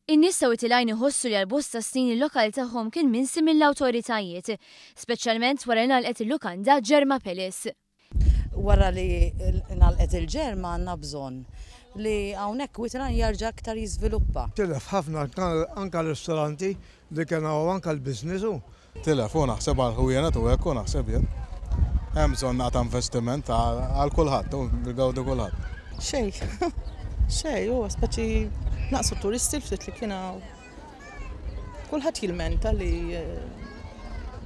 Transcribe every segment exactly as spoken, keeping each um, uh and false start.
In-nies ta' Wied il-Għajn iħossu li għal bosta snin il-lokal tagħhom kien minsi mill-awtoritajiet, speċjalment wara li ngħalqet il-lukanda Ġerma Palace. Wara li ngħalqet il-Ġerma, għandna bżonn li hawnhekk Wied il-Għajn jarġa' aktar jiżviluppa. Tilef ħafna, anka ristoranti li kien hawn, anka l-business u. Tilef u naħseb għal ħwienet u hekk u naħseb jien. Hemm bżonn naqta' investiment għal kulħadd u bil-gawdu kulħadd. Xej, xej, u speċi naqsu turisti l-ftit li kien hawn. Kulħadd jilmenta li eh,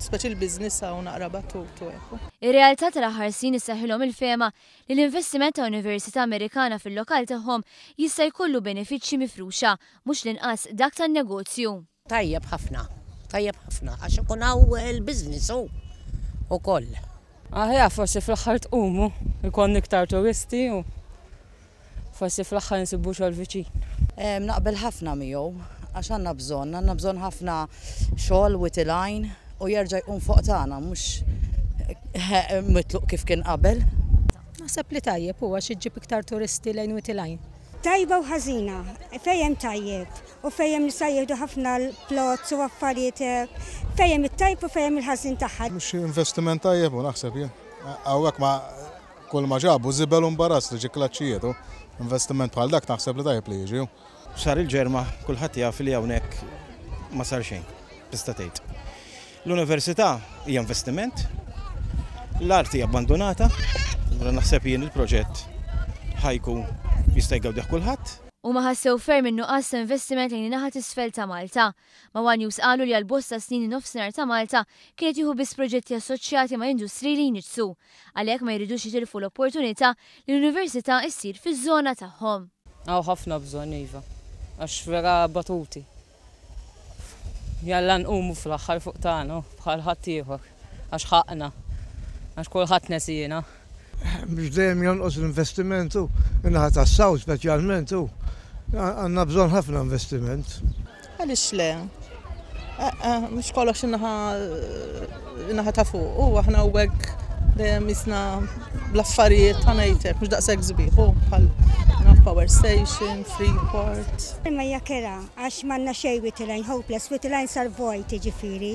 speċi l-biznis hawn naqra batut u hekk. Ir-realtà tal-aħħar snin issaħħilhom il-fehma li l-investiment ta' Università Amerikana fil-lokal tagħhom jista' jkollu benefiċċji mifruxa, mhux l-inqas dak tan-negozju. Tajjeb ħafna, tajjeb ħafna, għax ikun hawn il-business u ukoll. Aħjar forsi fl-aħħar tqumu, ikun iktar turisti u forsi fl-aħħar nsibu xogħol viċin. Naqbel ħafna miegħu għax għandna bżonn, għandna bżonn ħafna xogħol Wied il-Għajn u jerġa' jkun fuq tagħna, mhux mitluq kif kien qabel. Naħseb li tajjeb huwa xi ġġib iktar turisti lejn Wied il-Għajn. Tajba u ħażina, fejn tajjeb u fejn nista' jieħdu ħafna l-plots u affarijiet, fejn it-tajb u fejn il-ħażin tagħha. Mhux investiment tajjeb u naħseb jien. Hawnhekk ma kull ma ġabu żibel u mbarazz li ġi klaċċijiet u investiment bħal dak naħseb li tajjeb li jiġi. Sar il-Ġerma, kulħadd jaf li hawnhekk ma sar xejn, tista' tgħid. L-università hija investiment, l-arti hija abbandonata, allura naħseb jien il-proġett ħa jkun jista' jgawdih kulħadd. Huma ħassew ferm in-nuqqas ta' investiment lejn in-naħa t'isfel ta' Malta. Ma' One News qalu li għal bosta snin in-nofsinhar ta' Malta kienet jieħu biss proġetti assoċjati ma' industri li jniġġsu. Għalhekk ma jridux jitilfu l-opportunità li l-università issir fiż-żona tagħhom. Hawn ħafna bżonn, iva, għax vera batuti. Jalla nqumu fl-aħħar fuq tagħna bħal ħadd ieħor, għax ħaqna, għax kulħadd nesina. Biex dejjem jonqos l-investiment u in-naħa tas-South speċjalment u għandna bżonn ħafna investiment. Għaliex le? Eh, eh, mhux kollox in-naħa in-naħa ta' fuq, u aħna hawnhekk dejjem jisna bl-affarijiet ta' ngħidlek, mhux daqshekk sbieħ, u bħal naf Power Station, Freeport. Imma hija kerha għax m'għandna xejn Wied il-Għajn, hopeless, Wied il-Għajn sar vojt, jiġifieri.